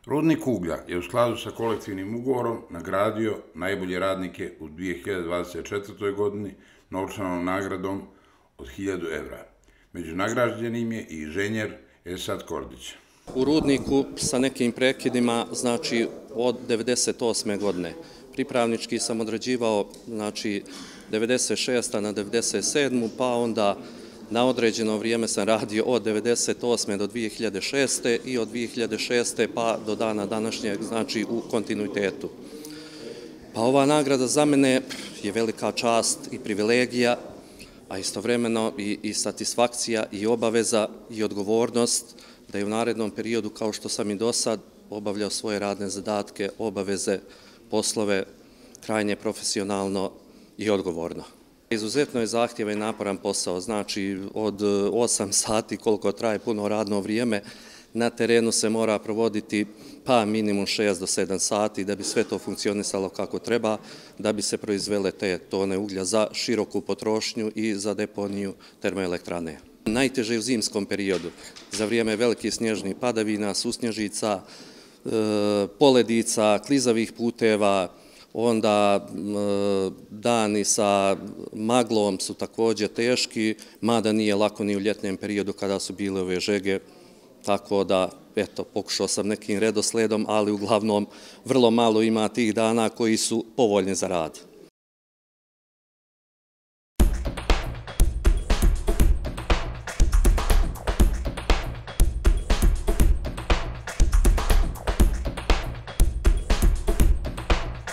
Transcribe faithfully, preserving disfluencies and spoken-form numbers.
Rudnik uglja je u skladu sa kolektivnim ugovorom nagradio najbolje radnike u dvije hiljade dvadeset četvrtoj godini novčanom nagradom od hiljadu evra. Među nagrađenim je i inženjer Esad Kordić. U rudniku sa nekim prekidima, znači od devedeset osme godine. Pripravnički sam odrađivao, znači, devedeset šeste na devedeset sedmu pa onda na određeno vrijeme sam radio od devedeset osme do dvije hiljade šeste i od dvije hiljade šeste pa do dana današnjeg, znači u kontinuitetu. Pa ova nagrada za mene je velika čast i privilegija, a istovremeno i, i satisfakcija i obaveza i odgovornost da je u narednom periodu, kao što sam i do sad, obavljao svoje radne zadatke, obaveze, poslove, krajnje profesionalno i odgovorno. Izuzetno je zahtjevan i naporan posao, znači od osam sati koliko traje puno radno vrijeme, na terenu se mora provoditi pa minimum šest do sedam sati da bi sve to funkcionisalo kako treba, da bi se proizvele te tone uglja za široku potrošnju i za deponiju termoelektrane. Najteže je u zimskom periodu, za vrijeme velikih snježnih padavina, susnježica, poledica, klizavih puteva, onda dani sa maglom su također teški, mada nije lako ni u ljetnem periodu kada su bile ove žege, tako da, eto, pokušao sam nekim redosledom, ali uglavnom vrlo malo ima tih dana koji su povoljni za rad.